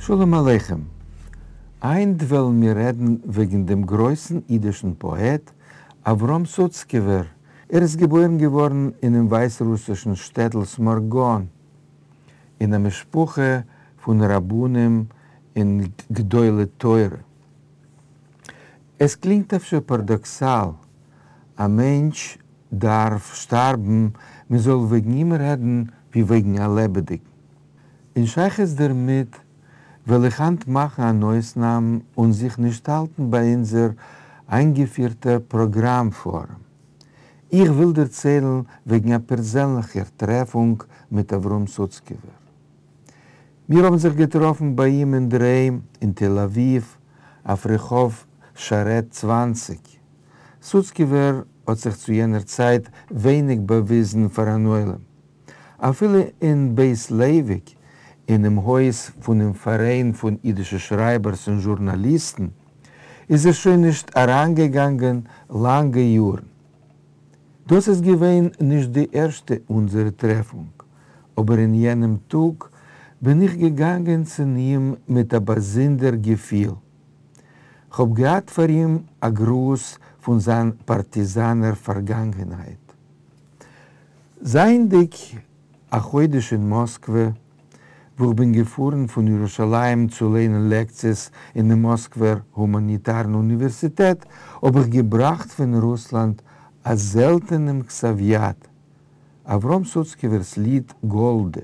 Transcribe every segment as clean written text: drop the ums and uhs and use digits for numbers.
שלום עליכם. היינט וועלן מיר רעדן וועגן דעם גרויסן אידישן פאעט אברהם סוצקעווער. ער איז געבוירן געווארן אינעם ווייסרוסישן שטעטל סמארגאן, אין א משפחה פון רבנים און גדולי תורה. עס קלינגט אפשר פארדאקסאל, א מענטש דארף שטארבן מען זאל וועגן אים רעדן ווי וועגן א לעבעדיגן. אין שייכות דערמיט וועל איך היינט מאכן אן אויסנאם און זיך נישט האלטן ביי אונזער איינגעפירטער פראגראם פארעם. איך וויל דערציילן וועגן א פערזענליכער טרעפונג מיט אברהם סוצקעווער. מיר האבן זיך געטראפן ביי אים אינדערהיים אין תל אביב אויף רחוב שרת 20. סוצקעווער האט זיך צו יענער צייט ווייניג באוויזן פאר אן עולם. אפילו אין בית לייוויק, אינעם הויז פונעם פאראיין פון אידישע שרייבערס און זשורנאליסטן, איז ער שוין נישט אריינגעגאנגען לאנגע יארן. דאס איז געווען נישט די ערשטע אונזערע טרעפונג, אבער אין יענעם טאג בין איך געגאנגען צו אים מיט א באזונדער געפיל. כ'האב געהאט פאר אים א גרוס פון זיין פארטיזאנער פארגאנגענהייט. זייענדיג א חודש אין מאסקווע, וואו כ'בין געפארן פון ירושלים צו ליינען לעקציעס אינעם מאסקווער הומאניטארן אוניווערסיטעט, האב איך געבראכט פון רוסלאנד א זעלטענעם כתב-יד, אברהם סוצקעווער'ס ליד גאלדע.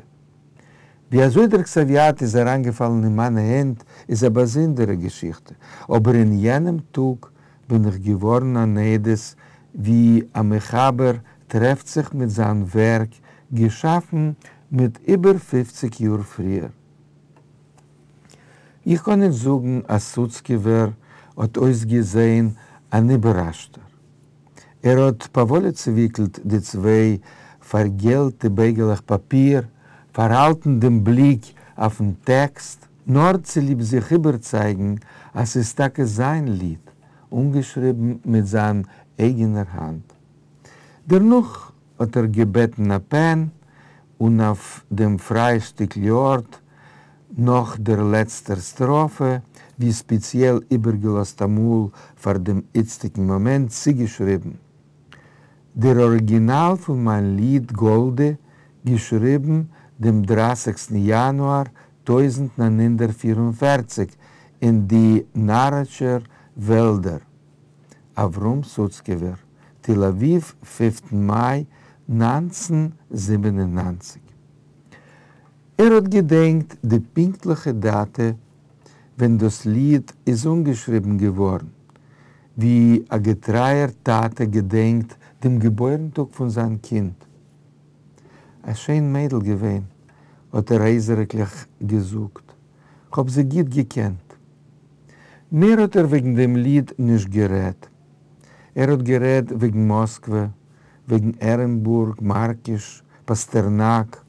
ווי אזוי דער כתב-יד איז אריינגעפאלן אין מיינע הענט איז א באזונדערע געשיכטע, אבער אין יענעם טאג בין איך געווארן אן עדות ווי א מחבר טרעפט זיך מיט זיין ווערק געשאפן מיט איבער 50 יאר פריער. איך קען נישט זאגן אז סוצקעווער האט אויסגעזען אן איבערראשטער. ער האט פאוואליע צעוויקלט די צוויי פארגעלטע בייגעלעך פאפיר, פארהאלטן דעם בליק אויפן טעקסט, נאר צוליב זיך איבערצייגן אז ס'איז טאקע זיין ליד, אנגעשריבן מיט זיין אייגענער האנט. דערנאך האט ער געבעטן א פען, און אויף דעם פריי שטיקל ארט, נאך דער לעצטער סטראפע, ווי ספעציעל איבערגעלאזט אמאל פאר דעם איצטיגן מאמענט, צוגעשריבן: דער אריגינאל פון מיין ליד גאלדע, געשריבן דעם 30סטן יאנואר 1944 אין די נאראטשער וועלדער. אברהם סוצקעווער, תל אביב, 5טן מאי 1997. ער האט געדענקט די פונקטליכע דאטע ווען דאס ליד איז אנגעשריבן געווארן, ווי א געטרייער טאטע געדענקט דעם געבוירן-טאג פון זיין קינד. א שיין מיידל געווען, האט ער הייזעריקליך געזאגט, כ'האב זי גוט געקענט. מער האט ער וועגן דעם ליד נישט גערעדט. ער האט גערעדט וועגן מאסקווע, וועגן ערענבורג, מארקיש, פאסטערנאק,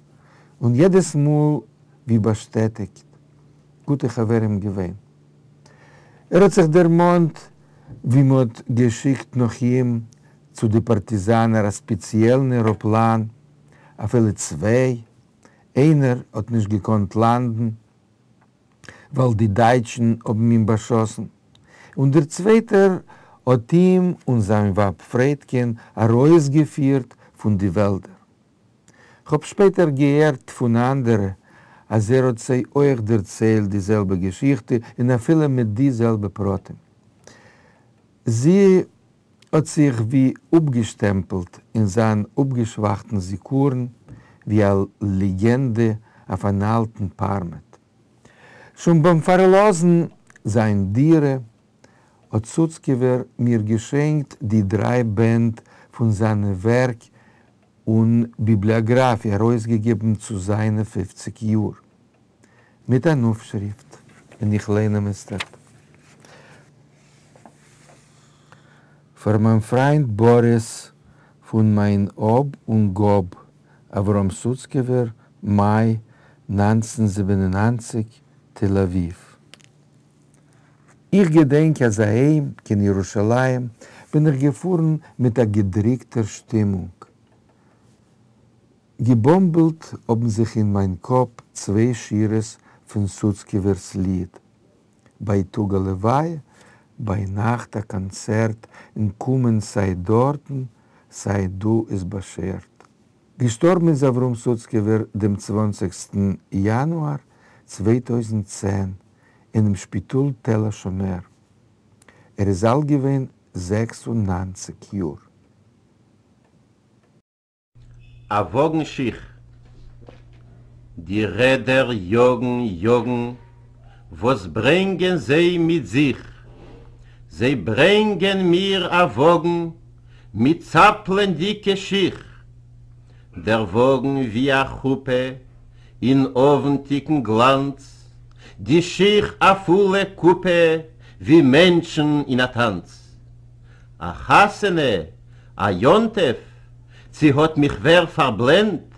און יעדעס מאל ווי באשטעטיגט, גוטע חברים געווען. ער האט זיך דערמאנט ווי מ'האט געשיקט נאך אים צו די פארטיזאנער א ספעציעלן עראפלאן, אפילו צוויי, איינער האט נישט געקאנט לאנדן ווייל די דייטשן האבן אים באשאסן, און דער צווייטער האט אים און זיין ווייב פריידקען ארויסגעפירט פון די וועלדער. כ'האב שפעטער געהערט פון אנדערע אז ער האט זיי אויך דערציילט די זעלבע געשיכטע און אפילו מיט די זעלבע פרטים. זי האט זיך ווי אפגעשטעמפלט אין זיין אפגעשוואכטן זיכרון ווי א לעגענדע אויף אן אלטן פארמעט. שוין ביים פארלאזן זיין דירה האט סוצקעווער מיר געשענקט די דריי בענד פון זיינע ווערק און ביבליאגראפיע ארויסגעגעבן צו זיינע 50 יאר, מיט אן אויפשריפט, און איך ליין אים איצטערט. פאר מיין פריינד באריס פון מיין האב און גאב, אברהם סוצקעווער, מאי 1997, תל אביב. איך געדענק אז אהיים קיין ירושלים בין איך געפארן מיט א געדריקטער שטימונג. געבאמבלט האבן זיך אין מיין קאפ צוויי שורות פון סוצקעווער'ס ליד. בייטאג א לוויה, ביינאכט א קאנצערט און קומען סיי דארטן סיי דא איז באשערט. געשטארבן איז אברהם סוצקעווער דעם צוואנציגסטן יאנואר 2010 אינעם שפיטאל תל השומר. ער איז אלט געווען 96 יאר. אַ וואָגן שיך. די רעדער יאָגן, יאָגן, וואָס ברענגען זיי מיט זיך? זיי ברענגען מיר אַ וואָגן מיט צאַפּלענדיקע שיך. דער וואָגן ווי אַ חופּה אין אָוונטיקן גלאַנץ, די שיך אַ פֿולע קופּע ווי מענטשן אין אַ טאַנץ. אַ חתונה, אַ יום-טובֿ, צי האָט מיך ווער פֿאַרבלענדט?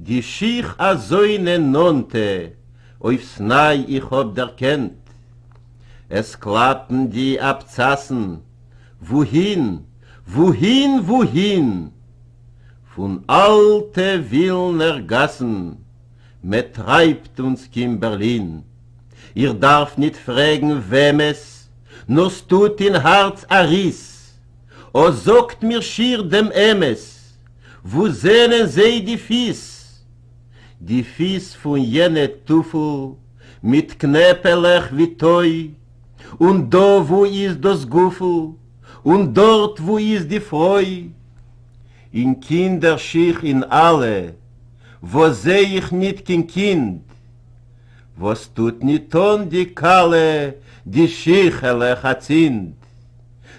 די שיך אַזוינע נאָענטע אויפֿס נײַ איך האָב דערקענט. עס קלאַפּן די אַבצאַסן, וווּהין, וווּהין, וווּהין? פֿון אַלטע ווילנער גאַסן מע טרײַבט אונדז קיין בערלין. איך דאַרף ניט פֿרעגן וועמעס, נאָר ס'טוט אין האַרץ אַ ריס. אָ, זאָגט מיר שיך דעם אמת, וווּ זענען זיי די פֿיס? די פֿיס פֿון יענע טופֿל מיט קנעפּעלעך ווי טוי, און דאָ וווּ איז דאָס גופֿל, און דאָרט וווּ איז די פֿרוי? אין קינדער-שיך אין אַלע, וואָס זע איך ניט קיין קינד, וואָס טוט ניט אָן די כּלה די שיכעלעך אַצינד?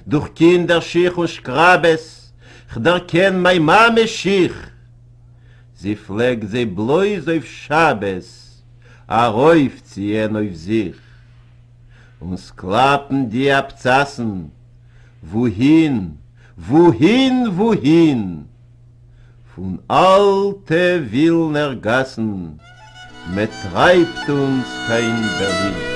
דורך קינדער-שיך און שקראַבעס כ'דערקען מײַן מאַמעס שיך. זי פֿלעגט זיי בלויז אויף שבת אַרויפֿציִען אויף זיך. און ס'קלאַפּן די אַבצאַסן, וווּהין, וווּהין, וווּהין? פֿון אַלטע ווילנער גאַסן מע טרײַבט אונדז קיין בערלין.